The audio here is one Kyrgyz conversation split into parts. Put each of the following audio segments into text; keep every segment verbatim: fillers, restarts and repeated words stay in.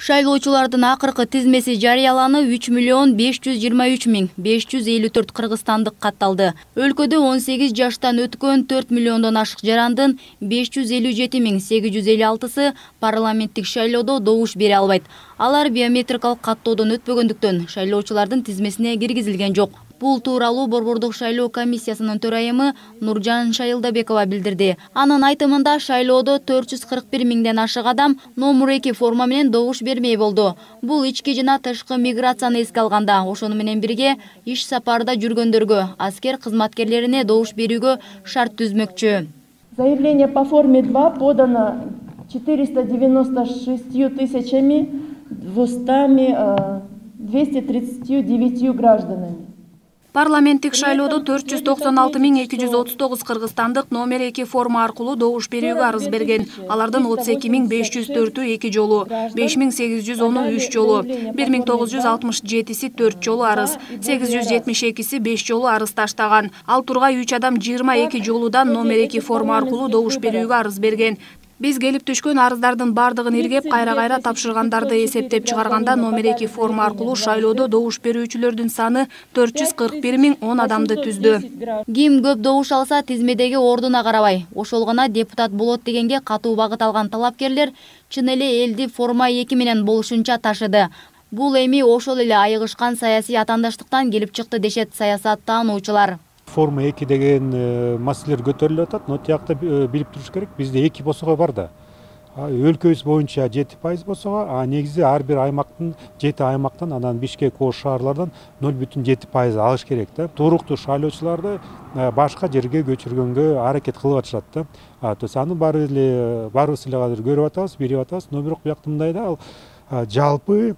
Шайлоочулардын акыркы тизмеси жарыяланып үч миллион беш жүз жыйырма үч миң беш жүз элүү төрт кыргызстандык катталды. Өлкөдө он сегиз жаштан өткөн төрт миллиондон ашык жарандын беш жүз элүү жети миң сегиз жүз элүү алтысы парламенттик шайлоодо добуш бере албайт. Алар биометрикалык каттоодон өтпөгөндүктөн шайлоочулардын тизмесине киргизилген жок. Бул тууралуу Борбордук шайлоо комиссиясынын төрайымы Нуржан Шайылдабекова билдирди. Анын айтымында шайлоодо төрт жүз кырк бир миңден ашык адам номер эки форма менен добуш бермей болду. Бул ички жана тышкы миграцияны эске алганда, ошону менен бирге иш сапарда жүргөндөргө, аскер кызматкерлерине добуш берүүгө шарт түзмөкчү. Заявление по форме два подано четыреста девяносто шестью тысячами двести тридцатью девятью гражданами. Парламенттик шайлоодо төрт жүз токсон алты миң эки жүз отуз тогуз кыргызстандык номер эки форма аркылуу добуш берүүгө арыз берген. Алардын отуз эки миң беш жүз төртү эки жолу, беш миң сегиз жүз onu үч жолу, бир миң тогуз жүз алтымыш жетиси төрт жолу арыз, сегиз жүз жетимиш экиси беш жолу арыз таштаган. Ал тургай үч адам жыйырма эки жолудан номер эки форма аркылуу добуш берүүгө арыз берген. Биз келип түшкөн арыздардын бардыгын иргеп, кайра-кайра тапшыргандарды эсептеп чыгарганда номер эки форма аркылуу шайлоодо добуш берүүчүлөрдүн саны төрт жүз кырк бир миң он адамды түздү. Ким көп добуш алса, тизмедеги ордуна карабай, ошол гана депутат болот дегенге катуу багыт алган талапкерлер чын эле элди форма эки менен болушунча ташыды. Бул эми ошол эле айыгышкан саясий атаандаштыктан келип чыкты дешет саясаттануучулар. Форма эки деген маселелер көтөрүлүп атат, но тиякта билип туруш керек. Бизде эки босого бар да. Өлкөбүз боюнча жети пайыз босого, а негизи ар бир аймактын жети аймактан, анан Бишкек, Ош шаарлардан ноль бүтүн жети пайыз алыш керек да. Туруктуу шайлоочуларды башка жерге көчүргөнгө аракет кылып атышат да. То есть аны баары эле баарыбыз эле азыр көрүп атабыз, билип атабыз. Но бирок биякта мындай да, ал жалпы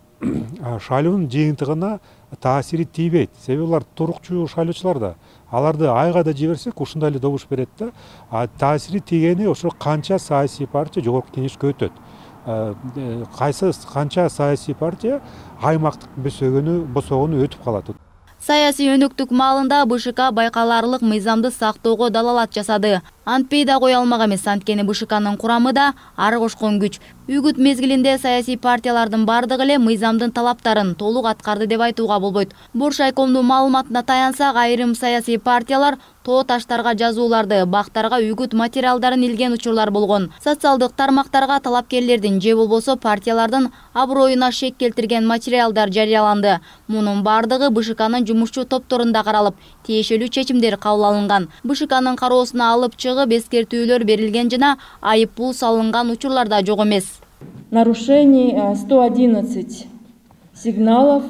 шайлоонун жыйынтыгына таасири тийбейт. Себеби алар турукчу шайлоочулар да. Аларды айга да жиберсек ушундай эле добуш берет да. А таасири тийгени ошо канча саясий партия жогорку кеңешке өтөт. Кайсы канча саясий партия аймактык босөгөнү босогону өтүп калат. Саясий өнөктүк маалында БШК байкалаарлык мыйзамды сактоого далалат жасады. Антпей да кое алмак эмес, анткени БШКнын курамы да ары кошкон күч. Үгүт мезгилинде саясий партиялардын бардыгы эле мыйзамдын талаптарын толук аткарды деп айтууга болбойт. Боршайкомдун маалыматына таянсак, айрым саясий партиялар тоо таштарга жазууларды, бактарга үгүт материалдарын илген учурлар болгон. Социалдык тармактарга талапкерлердин же болбосо партиялардын аброюна шек келтирген материалдар жарыяланды. Мунун бардыгы БШКнын жумушчу топторунда каралып, тиешелүү чечимдер кабыл алынган. БШКнын кароосуна алып чыгып эскертүүлөр берилген жана айып пул салынган учурлар да жок эмес. Нарушений сто одиннадцать сигналов,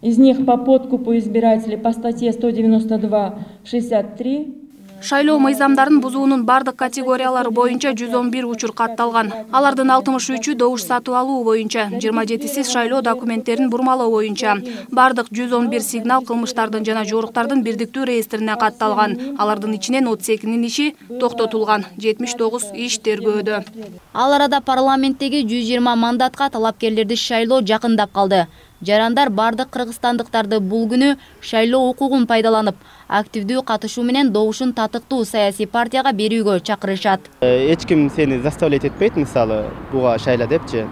из них по подкупу избирателей по статье сто девяносто два шестьдесят три. Шайлоо мыйзамдарын бузуунун бардык категориялары боюнча жүз он бир учур катталган. Алардын алтымыш үчү добуш сатып алуу боюнча, жыйырма жетиси шайлоо документтерин бурмалоо боюнча. Бардык жүз он бир сигнал кылмыштардын жана жоруктардын бирдиктүү реестрине катталган. Алардын ичинен отуз экинин иши токтотулган, жетимиш тогуз иш тергөөдө. Ал арада парламенттеги жүз жыйырма мандатка талапкерлерди шайлоо жакындап калды. Жарандар бардык кыргызстандыктарды бул күнү шайлоо укугун пайдаланып, активдүү катышуу менен добушун татыктуу саясий партияга берүүгө чакырышат. Эч ким сени заставлять этпейт, мисалы, буга шайла депчи.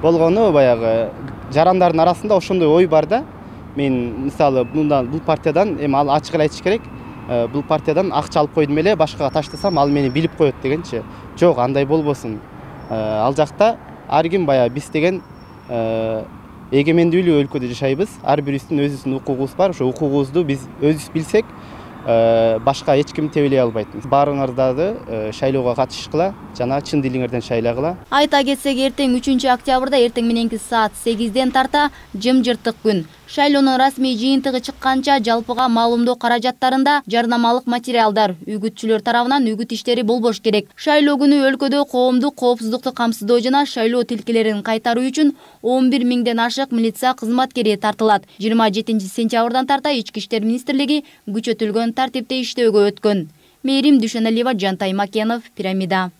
Болгону баягы жарандардын арасында ошондой ой бар да. Мен мисалы мындан бул партиядан эми ал ачык эле айтыш керек. Бул партиядан акча алып койдум эле, башкага таштасам ал мени билип коет дегенчи. Жок, андай болбосун. Ал жакта ар ким баягы биз деген эгемендүүлүү өлкөдө жашайбыз. Ар бирибиздин өзүбүздүн укугубуз бар. Ошо укугубузду биз өзүбүз билсек, башка эч ким тебелей албайт. Баарыңарды шайлоого катышкыла жана чын дилиңерден шайлагыла. Айта кетсек, эртең үчүнчү октябрда эртең мененки саат сегизден тарта жымжырттык күн. Шайлоонун расмий жыйынтыгы чыкканча жалпыга маалымдоо каражаттарында жарнамалык материалдар, үгүтчүлөр тарабынан үгүт иштери болбош керек. Шайлоо күнү өлкөдө коомдук коопсуздукту камсыздоо жана шайлоо тилкелерин кайтаруу үчүн он бир миңден ашык милиция кызматкери тартылат. жыйырма жетинчи сентябрдан тарта Ички иштер министрлиги күчөтүлгөн тартипте иштөөгө өткөн. Мээрим Дүйшөналиева, Жантай Макенов, Пирамида.